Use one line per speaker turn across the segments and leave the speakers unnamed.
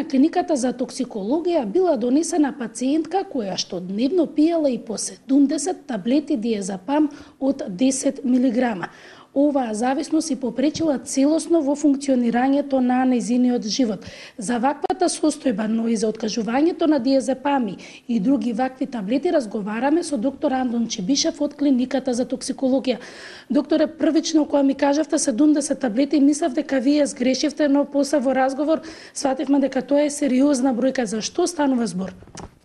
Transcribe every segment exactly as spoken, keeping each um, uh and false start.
на клиниката за токсикологија била донесена пациентка која што дневно пиела и по седумдесет таблети диазепам од десет милиграма. Оваа зависност и попречила целосно во функционирањето на нејзиниот живот. За ваквата состојба, но и за откажувањето на диазепами и други вакви таблети разговараме со доктор Андон Чебишев од клиниката за токсикологија. Докторе, првично кога ми кажавте седумдесет таблети, мислев дека вие сгрешивте, но после во разговор свативме дека тоа е сериозна бројка. За што станува збор?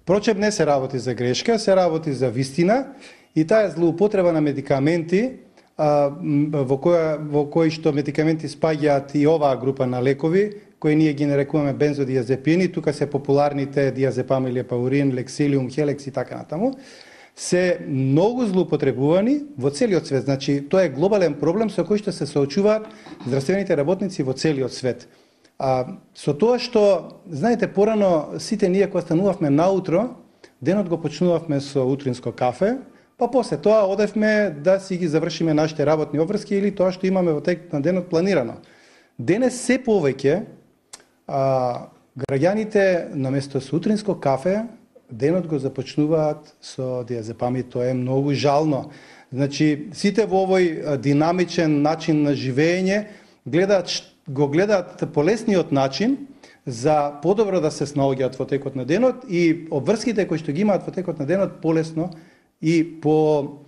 Впрочем, не се работи за грешка, се работи за вистина и таа е злоупотреба на медикаменти, во која во кои што медикаменти спаѓаат и оваа група на лекови, кои ние ги нарекуваме бензодиазепини, тука се популарните диазепам, лепаурин, лексилиум, хелекс и така натаму, се многу злоупотребувани во целиот свет. Значи, тоа е глобален проблем со кој што се соочуваат здравствените работници во целиот свет. А, со тоа што, знаете, порано сите ние кога станувавме наутро, денот го почнувавме со утринско кафе, па после тоа одевме да си ги завршиме нашите работни обврски или тоа што имаме во текот на денот планирано. Денес се повеќе а, граѓаните наместо со утринско кафе денот го започнуваат со диазепами. Тоа е многу жално. Значи, сите во овој динамичен начин на живење гледаат, го гледаат полесниот начин за подобро да се снаоѓаат во текот на денот и обврските кои што ги имаат во текот на денот полесно и по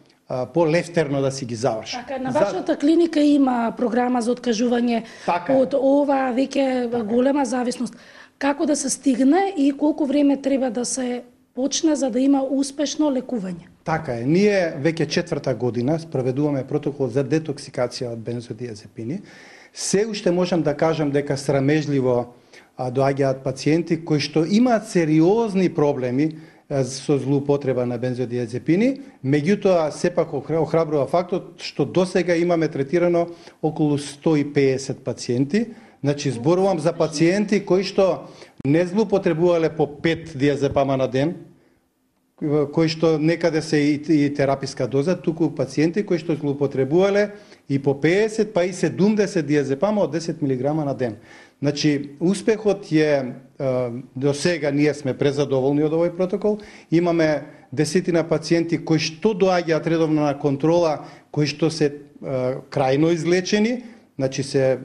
по лефтерно да си ги завршат.
Така, на вашата за... клиника има програма за откажување така од ова веќе голема зависност. Како да се стигне и колку време треба да се почне за да има успешно лекување?
Така е. Ние веќе четврта година спроведуваме протокол за детоксикација од бензодиазепини. Се уште можам да кажам дека срамежливо доаѓаат пациенти кои што имаат сериозни проблеми со злоупотреба на бензодиазепини, меѓутоа сепак охрабрува фактот што досега имаме третирано околу сто и песет пациенти. Значи зборувам за пациенти кои што не злоупотребувале по пет диазепама на ден, кои што некаде се и, и тераписка доза, туку пациенти кои што злоупотребувале и по песет па и седумдесет диазепама од десет милиграма на ден. Значи, успехот е, до сега ние сме презадоволни од овој протокол. Имаме десетина пациенти кои што доаѓаат редовно на контрола, кои што се крајно излечени, значи се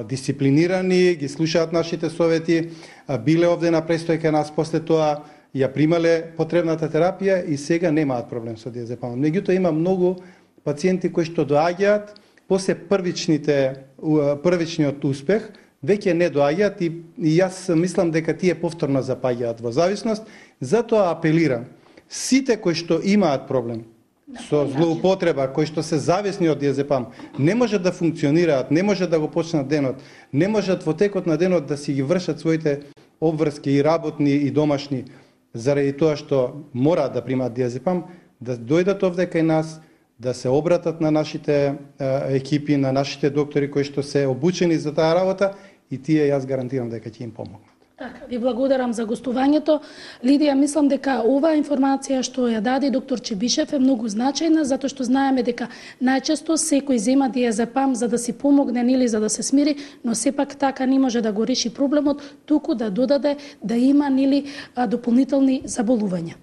дисциплинирани, ги слушаат нашите совети, биле овде на престојка нас, после тоа ја примале потребната терапија и сега немаат проблем со диазепам. Меѓутоа има многу пациенти кои што доаѓаат после првичните првичниот успех, веќе не доаѓаат и, и јас мислам дека тие повторно запаѓаат во зависност. Затоа апелирам сите кои што имаат проблем со злоупотреба, кои што се зависни од диазепам, не можат да функционираат, не можат да го почнат денот, не можат во текот на денот да си ги вршат своите обврски и работни и домашни, заради тоа што мораат да примаат диазепам, да дојдат овде кај нас, да се обратат на нашите екипи, на нашите доктори кои што се обучени за таа работа и тие јас гарантирам дека ќе им помогнат.
Така, ви благодарам за гостувањето. Лидија, мислам дека оваа информација што ја даде доктор Чебишев е многу значајна, затоа што знаеме дека најчесто секој зема диазепам за да си помогне или за да се смири, но сепак така не може да го реши проблемот, туку да додаде да има нели дополнителни заболувања.